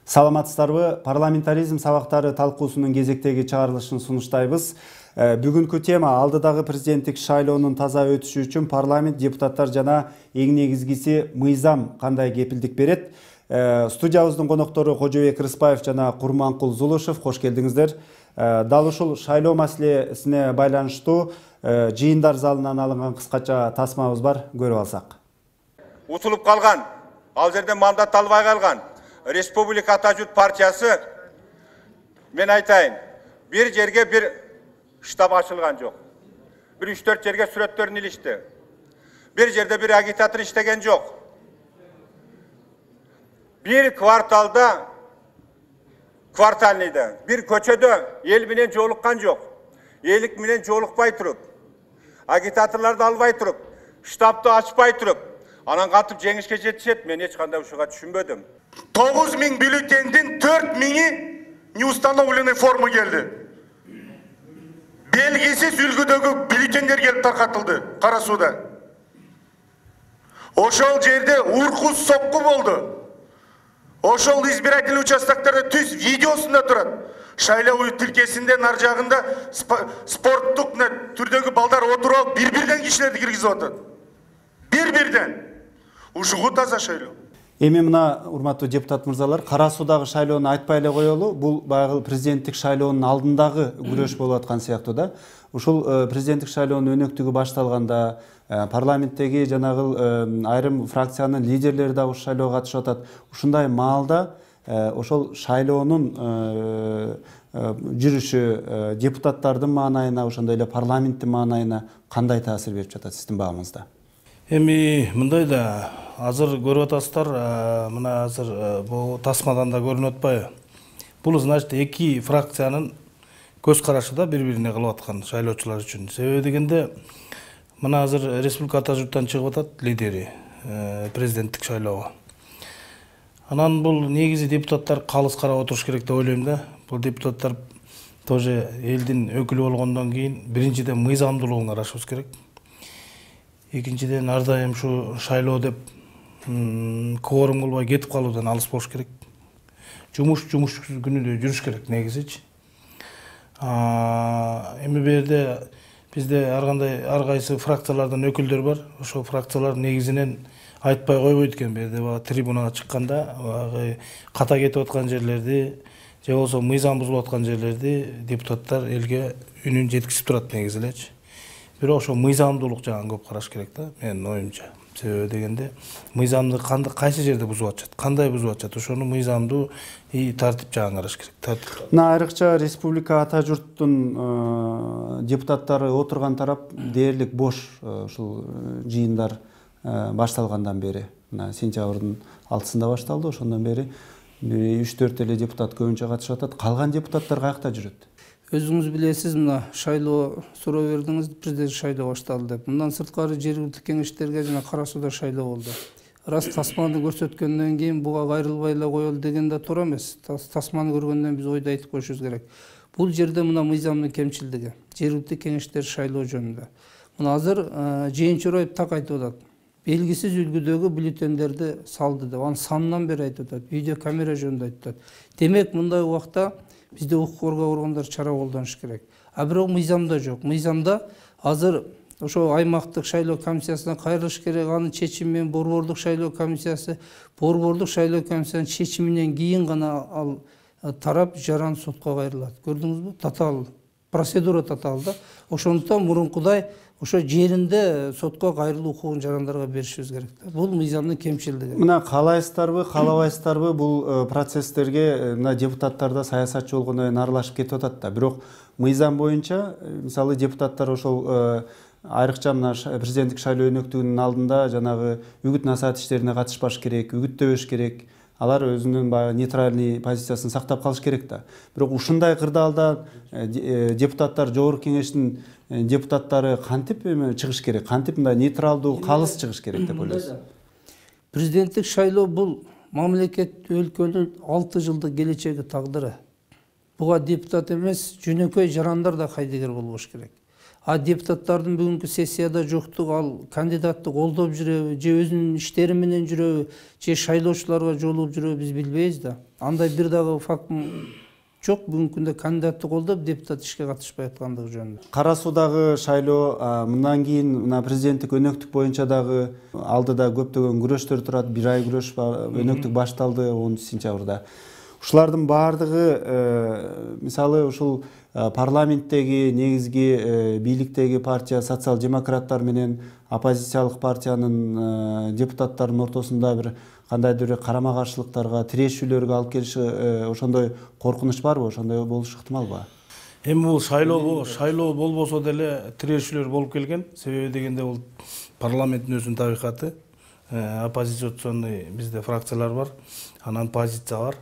Саламатсыздарбы? Парламентаризм сабактары талкуусунун кезектеги чыгарылышын сунуштайбыз. Бүгүнкү тема алдыдагы президенттик шайлоонун таза өтүшү үчүн парламент, депутаттар жана эң негизгиси мыйзам кандай кепилдик берет? Студиябыздын коноктору Кожобек Рыспаев жана Курманкул Зулушев, кош келдиңиздер. Дал ушул шайлоо маселесине байланыштуу жыйындар залынан алынган кыскача тасмабыз бар, көрүп алсак. Утулуп калган, ал жерде мандат албай калган Республика Ата Журт партиясы, мен айтайын, бир жерге бир штаб ачылган жок. Бир 3-4 жерге сүрөттөрүн илишти. Бир жерде бир агитатор иштеген жок. Бир кварталда, квартальныйда, бир көчөдө эл менен жолуккан жок. Элик менен жолукпай туруп, агитаторлорду албай туруп, штабты ачпай туруп, анан кантип жеңишке жетишет, мен эч кандай ушуга түшүнбөдүм. 9000 бюллетендин 4000-и неустановленный форма келди. Белгисиз үлгүдөгү бюллетендер келип таркатылды Кара Сууда. Ошол жерде уркус сокку болду. Ошол избирательный участоктордо түз видеосунда турат. Шайлоо тилкесинде нар жагында спорттук түрдөгү балдар отуруп алып бир-бирден кишилерди киргизип атат. Бир-бирден. Ушугу таза шайлоо. Эми мына урматтуу депутат мырзалар, Кара Суудагы шайлоону айтпай эле коелу. Бул баягы президенттик шайлоонун алдындагы күрөш болуп аткан сыяктуу да. Ушул президенттик шайлоонун өнөктүгү башталганда парламенттеги жанагы айрым фракциянын лидерлери да ушул шайлоого катышып атат. Ушундай маалда ошол шайлоонун жүрүшү депутаттардын маанайына, ошондой эле парламенттин маанайына кандай таасир берип жатат сиздин багыңызда? Эми мындай да, азыр көрүп атасыздар, мына азыр бул тасмадан да көрүнүп атпайбы? Бул значит эки фракциянын көз карашы да бири-бирине кылып аткан шайлоочулар үчүн. Себеби дегенде, мына азыр Республика Ата Журттан чыгып атат лидери президенттик шайлоого. Анан бул негизи депутаттар калыс карап отуруш керек деп ойлойм да. Бул депутаттар тоже элдин өкүлү болгондон кийин биринчиден мыйзамдуулугун карашыбыз керек. Экинчиден ар дайым ушу шайлоо деп кворум кылбай кетип калуудан алыс болуш керек. Жумуш күнүдө жүрүш керек негизичи. Эми бу жерде бизде ар кайсы фракциялардан өкүлдөр бар. Ошол фракциялар негизинен айтпай койбойт экен. Бу жерде трибунага чыкканда ката кетип аткан жерлерди, же болбосо мыйзам бузулуп аткан жерлерди депутаттар элге үнүн жеткизип турат негизи элечи. Бирок ошо мыйзамдуулук жагын көп караш керек да, менин оюмча. Себеби дегенде мыйзамды кайсы жерде бузуп атышат, кандай бузуп атышат, ошону мыйзамдуу тартип жагын караш керек. Мына айрыкча Республика Ата Журттун депутаттары отурган тарап дээрлик бош ушул жыйындар башталгандан бери. Мына сентябрдын 6-сында башталды, ошондон бери 3-4 эле депутат көбүнчө катышып атат. Калган депутаттар каякта жүрөт? Өзүңүз билесиз, мына шайлоо суроо бердиңиз, президент шайлоо башталды деп. Мындан сырткары жергиликтик кеңештерге жана Кара Сууда шайлоо болду. Рас тасманы көрсөткөндөн кийин буга кайрылбай эле коелу деген да туура эмес. Тасманы көргөндөн биз ойду айтып коюшубуз керек. Бул жерде мына мыйзамдын кемчилдиги, жергиликтик кеңештер шайлоо жөнүндө. Мына азыр Жээнчураев так айтып атат. Белгисиз үлгүдөгү бюллетендерди салды деп, анын санынан бери айтып атат, видео камера жөнүндө айтып атат. Демек мындай убакта бизде укук коргоо органдары чара колдонуш керек. Бирок мыйзамда жок. Мыйзамда азыр ошо аймактык шайлоо комиссиясына кайрылыш керек, анын чечими менен борбордук шайлоо комиссиясы, борбордук шайлоо комиссиянын чечиминен кийин гана ал тарап жаран сотко кайрылат. Көрдүңүзбү? Татаал процедура татаал да. Ошондуктан мурункудай ошо жеринде сотко кайрылуу укугун жарандарга беришибиз керек. Бул мыйзамдын кемчилдиги. Мына каалайсыздарбы, каалабайсыздарбы, бул процесстерге мына депутаттар да саясатчы болгондон кийин аралашып кетип атат да. Бирок мыйзам боюнча, мисалы депутаттар ошол айрыкча мына президенттик шайлоо өнөктүгүнүн алдында жанагы үгүт-насаат иштерине катышпаш керек, үгүттөбөш керек. Алар өзүнүн баягы нейтральный позициясын сактап калыш керек да. Бирок ушундай кырдаалда депутаттар, жогорку кеңештин депутаттары кантип чыгыш керек, кантип мындай нейтралдуу, калыс чыгыш керек деп ойлойсуз? Президенттик шайлоо бул мамлекет өлкөнүн 6 жылдык келечеги тагдыры. Буга депутат эмес, жөнөкөй жарандар да кайдыгер болбош керек. А депутаттардын бүгүнкү сессияда жоктугу ал кандидатты колдоп жүрөбү, же өзүнүн иштери менен жүрөбү, же шайлоочуларга жолугуп жүрөбү биз билбейбиз да. Андай бир дагы факт жок бүгүнкү күндө кандидатты колдоп депутат ишке катышпай аткандыгы жөнүндө. Кара Суудагы шайлоо мындан кийин мына президенттик өнөктүк боюнча дагы алдыда көптөгөн күрөштөр турат. 1 ай күрөш өнөктүк башталды 10 сентябрда. Ушулардын баардыгы мисалы ушул парламенттеги негизги бийликтеги партия социал-демократтар менен оппозициялык партиянын депутаттарынын ортосунда бир кандайдыр бир карама-каршылыктарга, тирешүүлөргө алып келиши ошондой коркунуч барбы? Ошондой болушу ыктымалбы? Эми бул шайлоо болбосо деле тирешүүлөр болуп келген. Себеби дегенде бул парламенттин өзүнүн табигаты. Оппозиционный бизде фракциялар бар, анан позиция бар.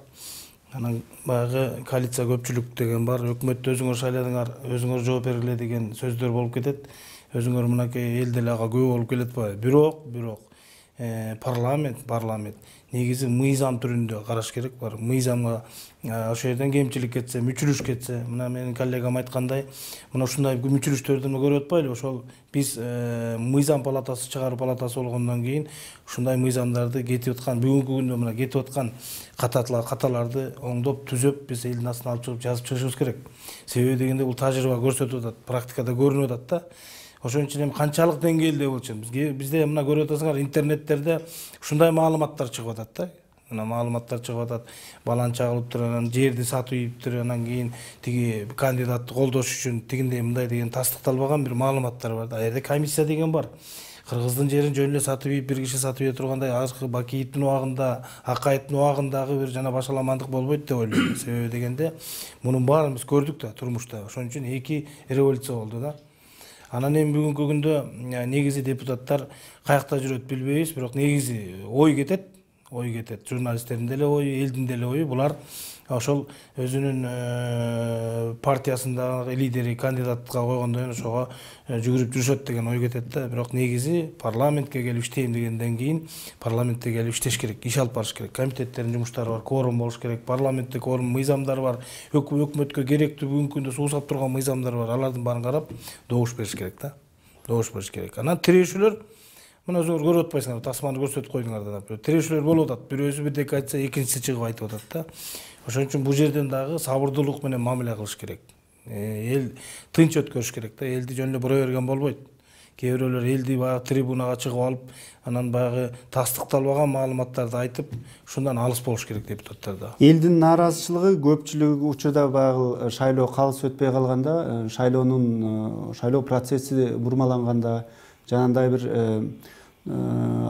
Анан баягы коалиция көпчүлүк деген бар. Өкмөттү өзүңөр шайладыңар, өзүңөр жооп бергиле деген сөздөр болуп кетет. Өзүңөр мынакей эл деле ага күбө болуп келет атпайбы? Бирок парламент негизи мыйзам түрүндө караш керек бар. Мыйзамга ошол жерден кемчилик кетсе, мүчүлүш кетсе, мына менин коллегам айткандай, мына ушундай мүчүлүштөрдү көрүп атпайлы? Ошол биз мыйзам палатасы, чыгаруу палатасы болгондон кийин ушундай мыйзамдарды кетип аткан, бүгүнкү күндө мына кетип аткан каталарды оңдоп, түзөп биз элдин астына алып чыгып жазып чыгышыбыз керек. Себеби дегенде бул тажрыйба көрсөтүп атат, практикада көрүнүп атат да. Ошон үчүн эми канчалык деңгээлде болчу? Бизде мына көрүп атасыңар, интернеттерде ушундай маалыматтар чыгып атат да. Мына маалыматтар чыгып атат. Балан чагылыптыр, анан жерди сатып ийиптир, анан кийин тиги кандидатты колдош үчүн тигиндей мындай деген тастыкталбаган бир маалыматтар бар да. А жерде комиссия деген бар. Кыргыздын жерин жөн эле сатып ийип, бир киши сатып ийе тургандай, азыркы Бакиевдин убагында, Акаевдин убагындагы бир жана башаламандык болбойт деп ойлойм. Себеби дегенде мунун баарын биз көрдүк да турмушта. Ошон үчүн 2 революция болду да. Анан эми бүгүнкү күндө негизи депутаттар каякта жүрөт билбейбиз, бирок негизи ой кетет. Журналисттердин деле ою, элдин деле ою. Булар ошол өзүнүн партиясындагы лидери кандидатка койгондон кийин ошого жүгүрүп жүрүшөт деген ой кетет да. Бирок негизи парламентке келип иштейм дегенден кийин парламентте келип иштеш керек, иш алып барыш керек. Комитеттердин жумуштары бар, кворум болуш керек. Парламентте кворум мыйзамдар бар. Өкмөткө керектүү бүгүнкү күндө суусап турган мыйзамдар бар. Алардын баарын карап добуш бериш керек да. Добуш бериш керек. Анан тирешүүлөр мына өзүңөр көрүп атпайсыңарбы, тасманы көрсөтүп койдуңар да. Тирешүүлөр болуп атат. Бирөөсү бирдеке айтса, экинчиси чыгып айтып атат да. Ошон үчүн бул жерден дагы сабырдуулук менен мамиле кылыш керек. Эл тынч өткөрүш керек да. Элди жөн эле бура берген болбойт. Кээ бирөөлөр элди баягы трибунага чыгып алып, анан баягы тастыкталбаган маалыматтарды айтып, ушундан алыс болуш керек депутаттар да. Элдин нааразычылыгы көпчүлүк учурда баягы шайлоо калыс өтпөй калганда, шайлоо процесси бурмаланганда, жанагындай бир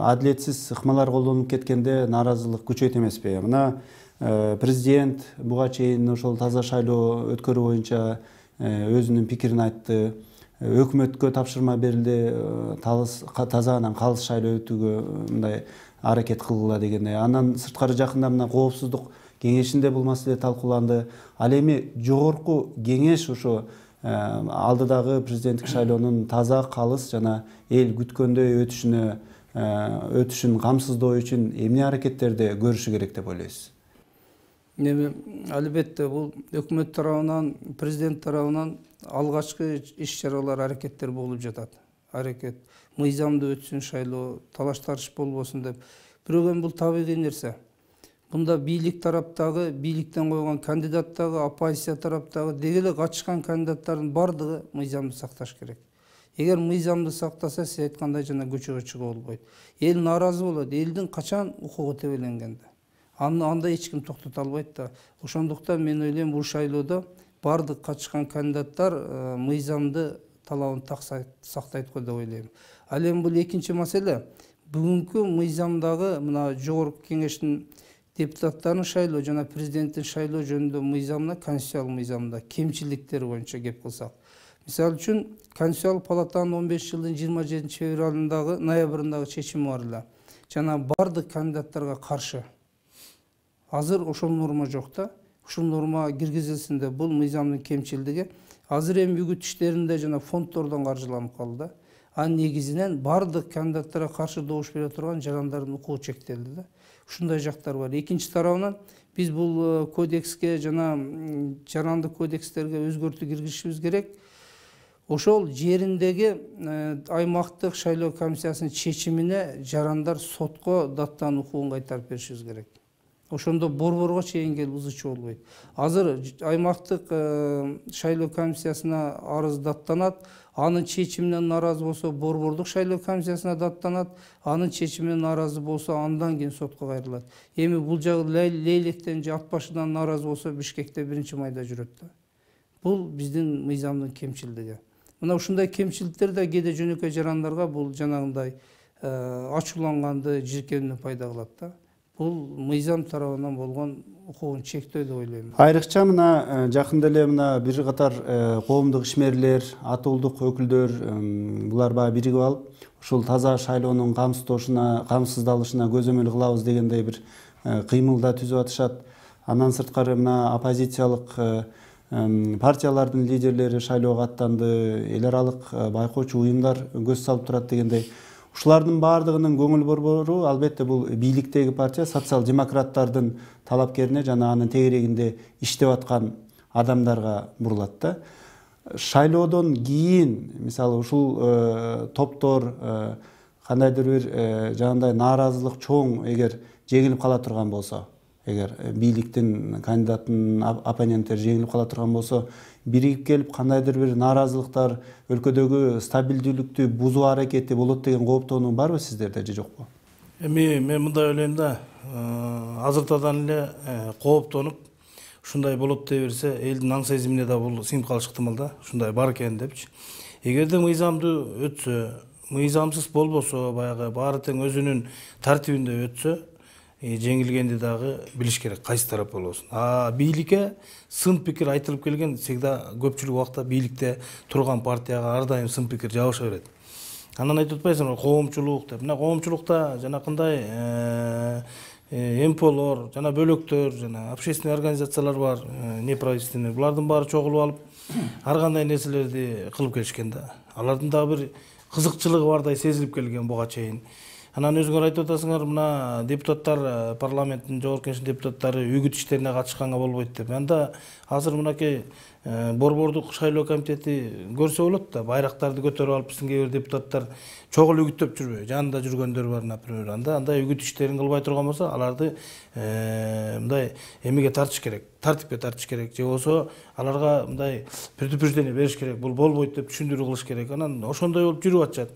адилетсиз ыкмалар колдонуп кеткенде нааразылык күчөйт эмеспи? Мына президент буга чейин ошол таза шайлоо өткөрүү боюнча өзүнүн пикирин айтты. Өкмөткө тапшырма берилди, таза анан калыс шайлоо өтүүгө мындай аракет кылгыла дегендей. Андан сырткары жакында мына коопсуздук кеңешинде бул маселе талкууланды. Ал эми жогорку кеңеш ошо алдыдагы президенттик шайлоонун таза, калыс жана эл күткөндөй өтүшүн камсыздоо үчүн эмне аракеттерди көрүшү керек деп ойлойсуз? Эми албетте бул өкмөт тарабынан, президент тарабынан алгачкы иш-чаралар, аракеттер болуп жатат. Аракет мыйзамдуу өтсүн шайлоо, талаш-тарыш болбосун деп. Бирок эми бул табигый нерсе. Бунда бийлик тараптагы, бийликтен койгон кандидаттагы, оппозиция тараптагы деги эле катышкан кандидаттардын бардыгы мыйзамды сакташ керек. Эгер мыйзамды сактаса, сиз айткандай жана көчөгө чыгуу болбойт. Эл нааразы болот. Элдин качан укугу тебеленгенде. Анда эч ким токтото албайт да. Ошондуктан мен ойлойм, бул шайлоодо бардык катышкан кандидаттар мыйзамды талабын сактайт го деп ойлойм. Ал эми бул экинчи маселе. Бүгүнкү мыйзамдагы мына жогорку кеңештин депутаттарын шайлоо жана президенттин шайлоо жөнүндө мыйзамына, конституциялык мыйзамда кемчиликтери боюнча кеп кылсак. Мисалы үчүн, Конституциялык палатанын 15 жылдын 27 февралындагы, ноябрындагы чечими бар эле. Жана бардык кандидаттарга каршы. Азыр ошол норма жок да. Ушул норма киргизилсин деп, бул мыйзамдын кемчилдиги. Азыр эми үгүт иштеринде жана фонддордон каржыланып калды. анын негизинен бардык кандидаттарга каршы добуш бере турган жарандардын укугу чектелди да. Ушундай жактар бар. Экинчи тарабынан биз бул кодекске жана жарандык кодекстерге өзгөртүү киргизишибиз керек. Ошол жериндеги аймактык шайлоо комиссиясынын чечимине жарандар сотко даттануу укугун кайтарып беришибиз керек. Ошондо борборго чейин келип ызычуу болбойт. Азыр аймактык шайлоо комиссиясына арыз даттанат, анын чечимине нааразы болсо борбордук шайлоо комиссиясына даттанат, анын чечимине нааразы болсо андан кийин сотко кайрылат. Эми бул жагы Лейлектен же Ат башыдан нааразы болсо Бишкекте 1-майда жүрөт да. Бул биздин мыйзамдын кемчилдиги. Мына ушундай кемчиликтер да кээде жөнөкөй жарандарга бул жанагындай ачууланганды, жиркенүүнү пайда кылат да. Бул мыйзам тарабынан болгон укугун чектөө деп ойлойм. Айрыкча мына жакында эле мына бир катар коомдук ишмерлер, атуулдук өкүлдөр булар баягы биригип алып, ушул таза шайлоонун камсыздалышына көзөмөл кылабыз дегендей бир кыймыл да түзүп атышат. Андан сырткары мына оппозициялык партиялардын лидерлери шайлоого аттанды, эл аралык байкоочу уюмдар көз салып турат дегендей. Ушулардын баардыгынын көңүл борбору албетте бул бийликтеги партия социал-демократтардын талапкерине жана анын тегерегинде иштеп аткан адамдарга бурулат да. Шайлоодон кийин мисалы ушул топтор кандайдыр бир жанагындай нааразылык чоң эгер жеңилип кала турган болсо, эгер бийликтин кандидатынын оппоненттери жеңилип кала турган болсо, биригип келип кандайдыр бир нааразылыктар, өлкөдөгү стабилдүүлүктү бузуу аракети болот деген кооптонуу барбы сиздерде же жокпу? Мен мындай ойлойм да, азыртадан эле кооптонуп ушундай болот дей берсе, элдин аң сезимине да бул сиңип калышы ыктымал да, ушундай бар экен депчи. Эгерде мыйзамды өтсө, мыйзамсыз болбосо, баягы баары тең өзүнүн тартибинде өтсө, жеңилгенди дагы билиш керек, кайсы тарап болбосун. Бийликке сын пикир айтылып келген всегда көпчүлүк убакта бийликте турган партияга ар дайым сын пикир жабыша берет. Анан айтып атпайсыңбы, коомчулук деп. Мына коомчулукта жанакындай МПОлор, жана бөлөктөр, жана общественный организациялар бар, неправительственный. Булардын баары чогулуп алып, ар кандай нерселерди кылып келишкен да. Алардын дагы бир кызыкчылыгы бардай сезилип келген буга чейин. Анан өзүңөр айтып атасыңар, мына депутаттар, парламенттин жогорку кеңешинин депутаттары үгүт иштерине катышканга болбойт деп. Анда азыр мынакей борбордук шайлоо комитети көрсө болот да, байрактарды көтөрүп алып биздин кээ бир депутаттар чогул үгүттөп жүрбөйбү, жанында жүргөндөр бар, например. Андай үгүт иштерин кылбай турган болсо, аларды мындай эмеге тартыш керек, тартипке тартыш керек, же болсо аларга мындай предупреждение бериш керек, бул болбойт деп түшүндүрүү кылыш керек. Анан ошондой болуп жүрүп атышат.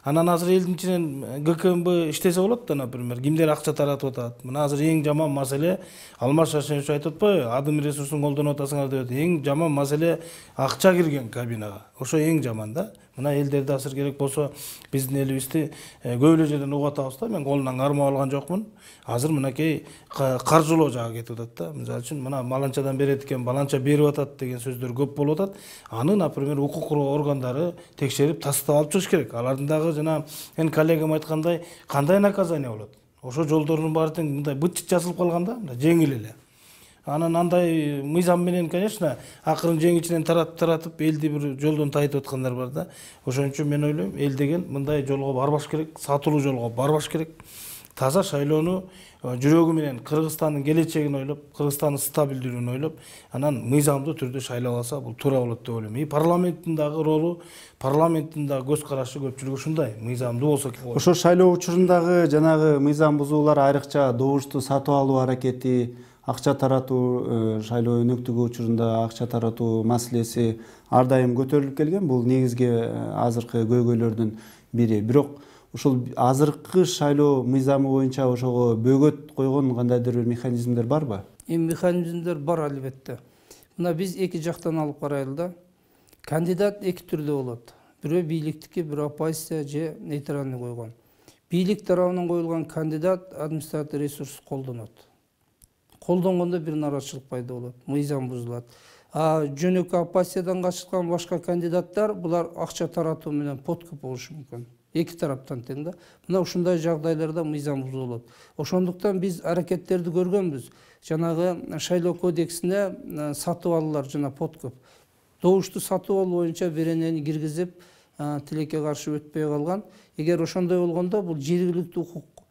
Анан азыр элдин ичинен ГКМБ иштесе болот да, например, кимдер акча таратып атат. Мына азыр эң жаман маселе, Алмаз Шашенович айтып атпайбы, адым ресурсун колдонуп атасыңар деп. Эң жаман маселе акча кирген кабинага. Ошо эң жаман да. Мына элдерде азыр керек болсо биздин элибизди көп эле жерден угуп атабыз да. Мен колунан кармап алган жокмун. Азыр мынакей каржылоо жагы кетип атат да. Мисалы үчүн мына маланчадан берет экен, баланча берип атат деген сөздөр көп болуп атат. Аны, например, укук коргоо органдары текшерип тастап алып чыгыш керек. Алардын дагы жана мен коллегам айткандай, кандай наказание болот? Ошо жолдордун баары тең мындай быт-чыт жазылып калган да, жеңил эле. Анан андай мыйзам менен, конечно, акырын жеңичинен таратып элди бир жолдон тайытып аткандар бар да. Ошон үчүн мен ойлойм, эл деген мындай жолго барбаш керек, сатылуу жолго барбаш керек. Таза шайлоону жүрөгү менен Кыргызстандын келечегин ойлоп, Кыргызстандын стабилдүүлүгүн ойлоп, анан мыйзамдуу түрдө шайлап алса, бул туура болот деп ойлойм. Парламенттин дагы ролу, парламенттин дагы көз карашы көпчүлүгү ушундай, мыйзамдуу болсо. Ошо шайлоо учурундагы жанагы мыйзам бузуулар, айрыкча добушту сатып алуу аракети, акча таратуу, шайлоо өнөктүгү учурунда акча таратуу маселеси ар дайым көтөрүлүп келген. Бул негизги азыркы көйгөйлөрдүн бири. Бирок ушул азыркы шайлоо мыйзамы боюнча ошого бөгөт койгон кандайдыр бир механизмдер барбы? Механизмдер бар албетте. Мына биз эки жактан алып карайлы да. Кандидат эки түрдө болот. Бирөө бийликтики, бирөө оппозиция же нейтральный койгон. Бийлик тарабынан коюлган кандидат административдик ресурс колдонот. Колдонгондо бир нараазычылык пайда болот, мыйзам бузулат. Жөнөкөй оппозициядан катышкан башка кандидаттар булар акча таратуу менен подкуп болушу мүмкүн. Эки тараптан тең да. Мына ушундай жагдайларда мыйзам бузулат. Ошондуктан биз аракеттерди көргөнбүз. Жанагы шайлоо кодексине сатып алуулар жана подкуп. Добушту сатып алуу боюнча беренени киргизип, тилекке каршы өтпөй калган. Эгер ошондой болгондо бул жергиликтүү укук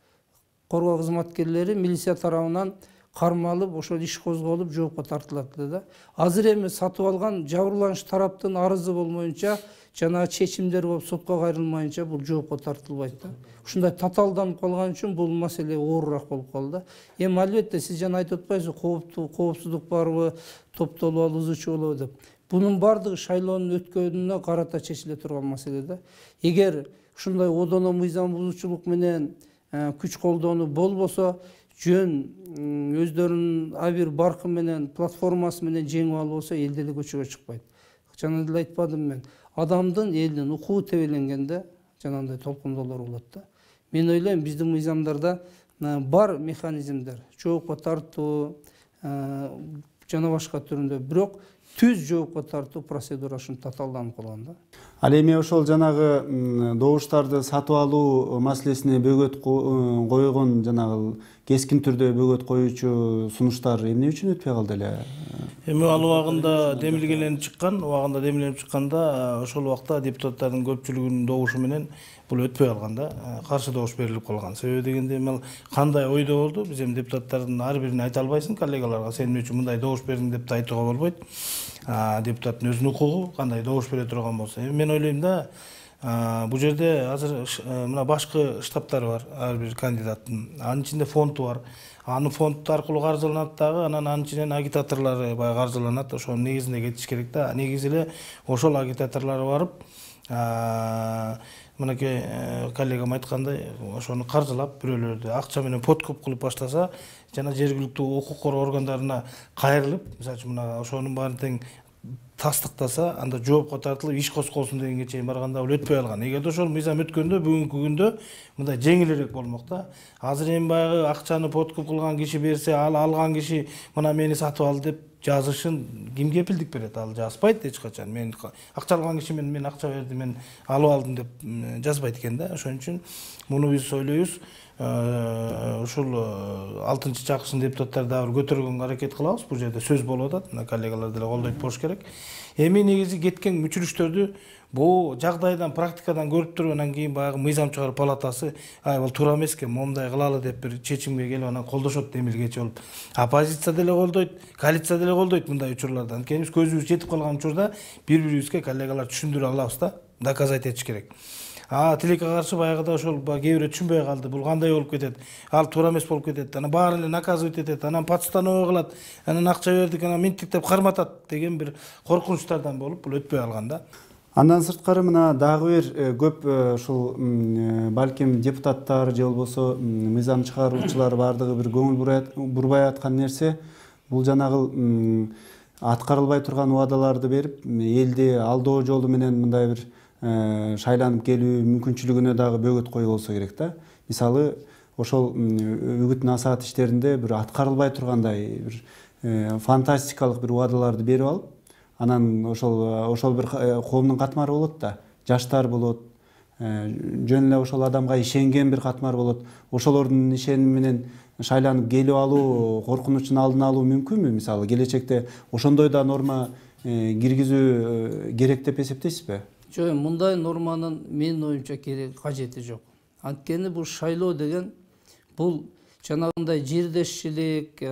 коргоо кызматкерлери милиция тарабынан кармалып, ошол иш козголуп жоопко тартылат да. Азыр эми сатып алган жабырлануучу тараптын арызы болмоюнча, жана чечимдер болуп сотко кайрылмайынча бул жоопко тартылбайт да. Ушундай татаалданып калган үчүн бул маселе оорураак болуп калды. Эми албетте сиз жана айтып атпайсызбы, коопсуздук барбы, топтолуп алуучу болобу деп. Бунун бардыгы шайлоонун өткөнүнө карата чечиле турган маселе да. Эгер ушундай одоно мыйзам бузуучулук менен күч колдонуу болбосо, жөн өздөрүнүн абир баркы менен, платформасы менен жеңип албосо, эл деле көчөгө чыкпайт. Жана деле айтпадым мен, адамдын, элдин укугу тебеленгенде жанагындай толкундоолор болот да. Мен ойлойм, биздин мыйзамдарда бар механизмдер, жоопко тартуу жана башка түрүндө, бирок түз жоопко тартуу процедурасы татаалданып калган да. Ал эми ошол жанагы добуштарды сатып алуу маселесине бөгөт койгон, жанагы кескин түрдө бөгөт коюучу сунуштар эмне үчүн өтпөй калды эле? Эми ал убагында демилгеленип чыкканда, ошол убакта депутаттардын көпчүлүгүнүн добушу менен бул өтпөй калган да, каршы добуш берилип калган. Себеби дегенде эми кандай ойдо болду, биз эми депутаттардын ар бирин айта албайсың коллегаларга, сен эмне үчүн мындай добуш бердиң деп да айтууга болбойт. Депутаттын өзүнүн укугу кандай добуш бере турган болсо. Эми мен ойлойм да, бул жерде азыр мына башкы штабтары бар, ар бир кандидаттын. Анын ичинде фонду бар. Анын фонд аркылуу каржыланат дагы, анан ичинен агитаторлору баягы каржыланат. Ошонун негизинде кетиш керек да. Негизи эле ошол агитаторлор барып, мынакей коллегам айткандай, ошону каржылап, бирөөлөрдү акча менен подкуп кылып баштаса, жана жергиликтүү укук коргоо органдарына кайрылып, мисалы үчүн мына ошонун баарын тең тастыктаса, анда жоопко тартылып иш козголсун дегенге чейин барганда бул өтпөй калган. Эгерде ошол мыйзам өткөндө, бүгүнкү күндө мындай жеңилирээк болмок да. Азыр эми баягы акчаны подкуп кылган киши берсе, ал алган киши мына мени сатып алды деп жазышын ким кепилдик берет? Ал жазбайт эч качан. Мен акча алган киши мен акча бердим, мен алып алдым деп жазбайт экен да. Ошон үчүн муну биз ойлойбуз. Ушул 6-чакырсын депутаттар дагы көтөргөнгө аракет кылабыз. Бул жерде сөз болуп атат. Мына коллегалар деле колдойт болуш керек. Эми негизи кеткен мүчүлүштөрдү бул жагдайдан, практикадан көрүп туруп, анан кийин баягы мыйзам чыгаруу палатасы, бул туура эмес экен, момундай кылалы деп бир чечимге келип анан колдошот демилгечи болуп. Оппозиция деле колдойт, коалиция деле колдойт мындай учурларда. Анткени биз көзүбүз жетип калган учурда бири-бирибизге коллегалар түшүндүрө алабыз да, доказать этиш керек. Тилекке каршы баягыда ошол кээ бирөө түшүнбөй калды. Бул кандай болуп кетет? Ал туура эмес болуп кетет. Анан баарын эле наказывать этет. Анан подстановка кылат. Анан акча бердик, анан минттик деп карматат деген бир коркунучтардан болуп, бул өтпөй калган да. Андан сырткары мына дагы бир көп ушул балким депутаттар же болбосо мыйзам чыгаруучулар бардыгы бир көңүл бурбай аткан нерсе, бул жанагы аткарылбай турган убадаларды берип, элди алдоо жолу менен мындай бир шайланып келүү мүмкүнчүлүгүнө дагы бөгөт коюу болсо керек да. Мисалы, ошол үгүт насаат иштеринде бир аткарылбай тургандай бир фантастикалык бир убадаларды берип алып, анан ошол бир коомдун катмары болот да. Жаштар болот, жөн эле ошол адамга ишенген бир катмар болот. Ошолордун ишеними менен шайланып келип алуу, коркунучун алдын алуу мүмкүнбү? Мисалы, келечекте ошондой да норма киргизүү керек деп эсептейсизби? Жок, мындай норманын менин оюмча кажети жок. Анткени бул шайлоо деген бул жанагындай жердешчилик,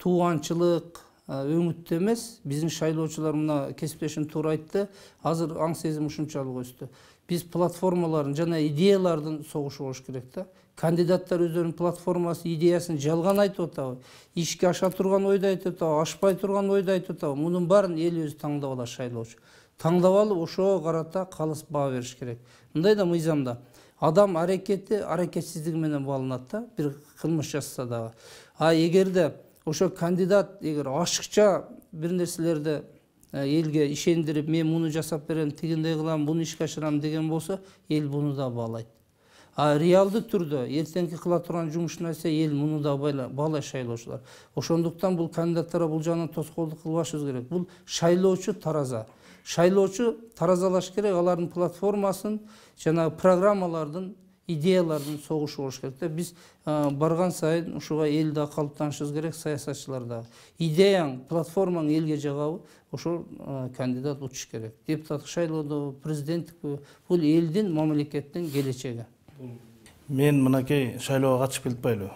тууганчылык өңүттө эмес. Биздин шайлоочулар мына кесиптешим туура айтты. Азыр аң сезим ушунчалык өстү. Биз платформалардын жана идеялардын согушу болуш керек да. Кандидаттар өздөрүнүн платформасы, идеясын жалган айтып атабы, ишке аша турган ойду айтып атабы, ашпай турган ойду айтып атабы, мунун баарын эл өзү таңдап алат шайлоочу. Таңдап алып, ошого карата калыс баа бериш керек. Мындай да мыйзамда адам аракети аракетсиздиги менен бааланат да, бир кылмыш жасаса дагы. Эгерде ошо кандидат ашыкча бир нерселерди элге ишендирип, мен муну жасап берем, тигиндей кылам, буну ишке ашырам деген болсо, эл буну да баалайт. Реалдуу түрдө эртеңки кыла турган жумушун айтса, эл муну да баалайт шайлоочулар. Ошондуктан бул кандидаттарга бул жагынан тоскоолдук кылбашыбыз керек. Бул шайлоочу тараза. Шайлоочу таразалаш керек, алардын платформасын жана программалардын идеялардын согушу болуш керек да. Биз барган сайын ушуга эл да калыптанышыбыз керек, саясатчылар да. Идеяң, платформаң элге жагабы, ошол кандидат учуш керек. Депутаттык шайлоодо, президенттик бул элдин, мамлекеттин келечеги. Мен мынакей шайлоого катышып келбейлби.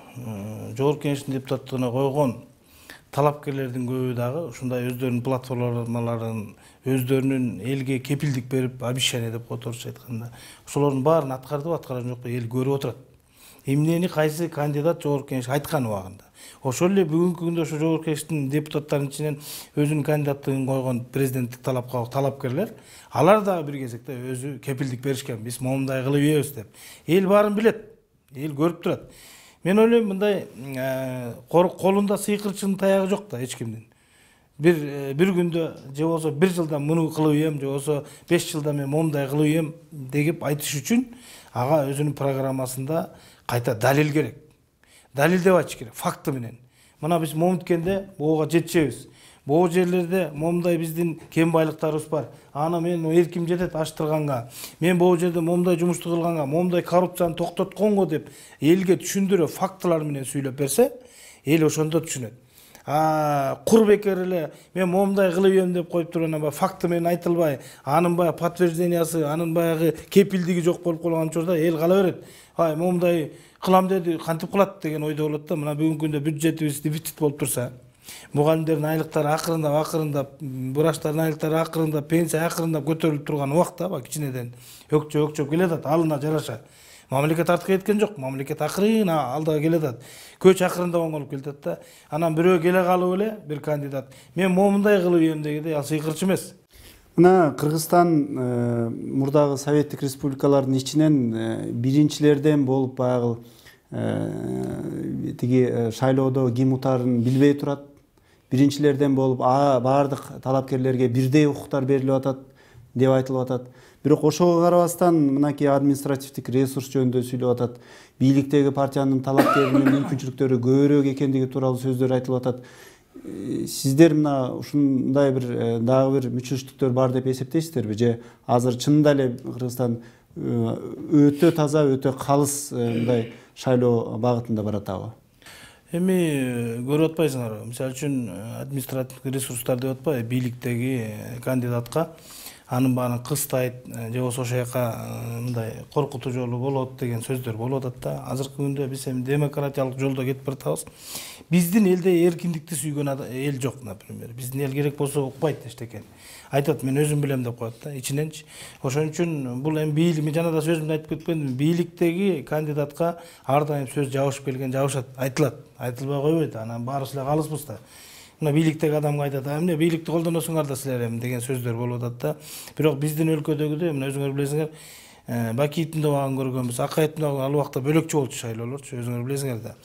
Жогорку Кеңештин депутаттыгына койгон талапкерлердин көбү дагы ушундай өздөрүнүн платформаларын, өздөрүнүн элге кепилдик берип, обещание деп коет орусча айтканда, ошолордун баарын аткарды, аткарган жокпу, эл көрүп отурат. Эмнени кайсы кандидат Жогорку Кеңеш айткан убагында. Ошол эле бүгүнкү күндө ошо Жогорку Кеңештин депутаттарынын ичинен өзүнүн кандидаттыгын койгон президенттик талапка талапкерлер, алар дагы бир кезекте өзү кепилдик беришкен. Биз момундай кылып ийебиз деп. Эл баарын билет, эл көрүп турат. Мен ойлойм мындай колунда сыйкырчынын таягы жок да эч кимдин. Бир күндө же болсо 1 жылда муну кылып ийем, же болсо 5 жылда мен момундай кылып ийем деп айтыш үчүн ага өзүнүн программасында кайта далил керек. Далилдеп айтыш керек, факты менен. Мына биз момунткенде буга жетишебиз. Бул жерлерде момундай биздин кем байлыктарыбыз бар. Аны мен эрким жетет аштырганга, мен бул жерде момундай жумушту кылганга, момундай коррупцияны токтотконго деп элге түшүндүрө фактылар менен сүйлөп берсе, эл ошондо түшүнөт. Кур бекер эле мен момундай кылып ийем деп коюп турган факты менен айтылбай, анын баягы подтверждениясы, анын баягы кепилдиги жок болуп калган учурда эл кала берет. Момундай кылам деди, кантип кылат деген ойдо болот да. Мына бүгүнкү күндө бюджетибиз дефицит болуп турса, мугалимдердин айлыктары акырындап, врачтардын айлыктары акырындап, пенсия акырындап көтөрүлүп турган убакта кичинеден өкчөп келатат, алына жараша. Мамлекет артка кеткен жок, мамлекет акырын алдыга келатат. Көч акырындап оңолуп келатат да. Анан бирөө келе калып эле бир кандидат мен момундай кылып ийем дегенде ал сыйкырчы эмес. Мына Кыргызстан мурдагы советтик республикалардын ичинен биринчилерден болуп баягы тиги шайлоодо ким утарын билбей турат. Биринчилерден болуп баардык талапкерлерге бирдей укуктар берилип атат деп айтылып атат. Бирок ошого карабастан мынакей административдик ресурс жөнүндө сүйлөп атат. Бийликтеги партиянын талапкеринин мүмкүнчүлүктөрү көбүрөөк экендиги тууралуу сөздөр айтылып атат. Сиздер мына ушундай бир дагы бир мүчүлүштүктөр бар деп эсептейсиздерби, же азыр чынында эле Кыргызстан өтө таза, өтө калыс мындай шайлоо багытында баратабы? Эми көрүп атпайсыңарбы? Мисалы үчүн административдик ресурстар деп атпайбы, бийликтеги кандидатка анын баарын кыстайт, же болсо ошол жака мындай коркутуу жолу болот деген сөздөр болуп атат да. Азыркы күндө биз эми демократиялык жолдо кетип баратабыз. Биздин элде эркиндикти сүйгөн эл жок, например. Биздин эл керек болсо укпайт эчтекен. Айтат, мен өзүм билем деп коет да, ичиненчи. Ошон үчүн бул эми бийлик, мен жана да сөзүмдө айтып кеткендим, бийликтеги кандидатка ар дайым сөз жабышып келген, жабышат, айтылат. Айтылбай койбойт, анан баарыбыз эле калыспыз да. Мына бийликтеги адамга айтат, эмне бийликти колдоносуңар да силер эми деген сөздөр болуп атат да. Бирок биздин өлкөдөгүдөй, мына өзүңөр билесиңер, Бакиевдин убагын көргөнбүз, Акаевдин убагы ал убакта бөлөкчө болчу шайлоолорчу, өзүңөр билесиңер да.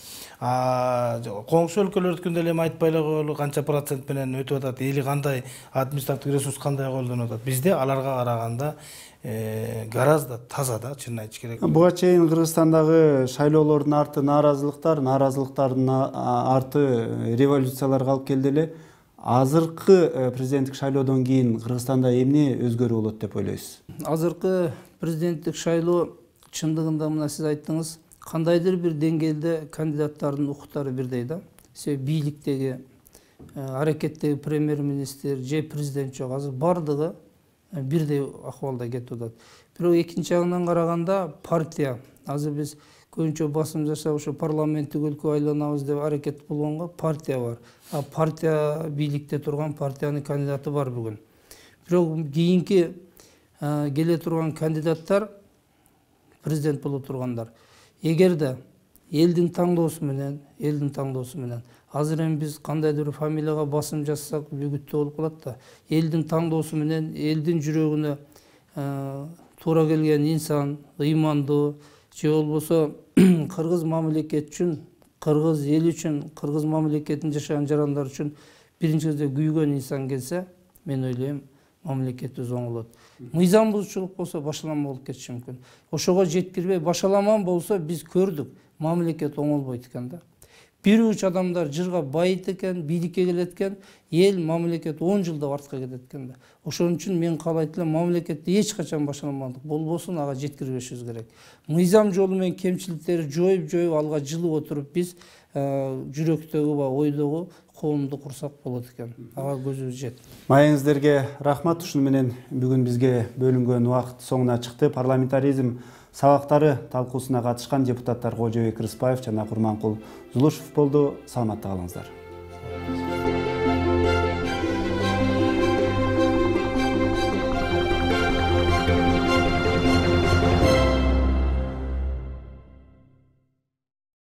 Коңшу өлкөлөрдүкүндө эле айтпай эле коелу канча процент менен өтүп атат, эли кандай, административдик ресурс кандай колдонуп атат. Бизде аларга караганда гораздо таза да, чынын айтыш керек. Буга чейин Кыргызстандагы шайлоолордун арты нааразылыктардын арты революцияларга алып келди эле. Азыркы президенттик шайлоодон кийин Кыргызстанда эмне өзгөрүү болот деп ойлойсуз? Азыркы президенттик шайлоо чындыгында мына сиз айттыңыз, кандайдыр бир деңгээлде кандидаттардын укуктары бирдей да. Себеби бийликтеги, аракеттеги премьер-министр же президент жок, азыр бардыгы бирдей акыбалда кетип атат. Бирок экинчи жагынан караганда партия, азыр биз көбүнчө басым жасап ошо парламенттик өлкө айланабыз деп аракет болгонго партия бар. Партия бийликте турган партиянын кандидаты бар бүгүн. Бирок кийинки келе турган кандидаттар президент боло тургандар. Эгерде элдин таңдоосу менен азыр эми биз кандайдыр фамилияга басым жасасак бүгүттүү болуп калат да. Элдин таңдоосу менен элдин жүрөгүнө туура келген инсан, ыймандуу, же болбосо кыргыз мамлекет үчүн, кыргыз эл үчүн, кыргыз мамлекетин жашаган жарандар үчүн биринчи кезде күйгөн инсан келсе, мен ойлойм мамлекетибиз оңолот. Мыйзам бузуучулук болсо башаламан болуп кетиши мүмкүн. Ошого жеткирбей башаламан болсо биз көрдүк, мамлекет оңолбойт экен да. бир уч адамдар жырга байыт экен, бийликке келет экен, эл мамлекет 10 жылда артка кетет экен да. Ошон үчүн мен каалайт элем, мамлекетти эч качан башаламандык болбосун, ага жеткирбешибиз керек. Мыйзам жолу менен кемчиликтерди жоюп алга жылып отуруп биз жүрөктөгү ба ойдогу коомду курсак болот экен. Ага көзүбүз жет. Маеңиздерге рахмат. Ушуну менен бүгүн бизге бөлүнгөн убакыт соңуна чыкты. Парламентаризм сабактары талкуусуна катышкан депутаттар Кожобек Рыспаев жана Курманкул Зулушев болду. Саламатта калыңыздар.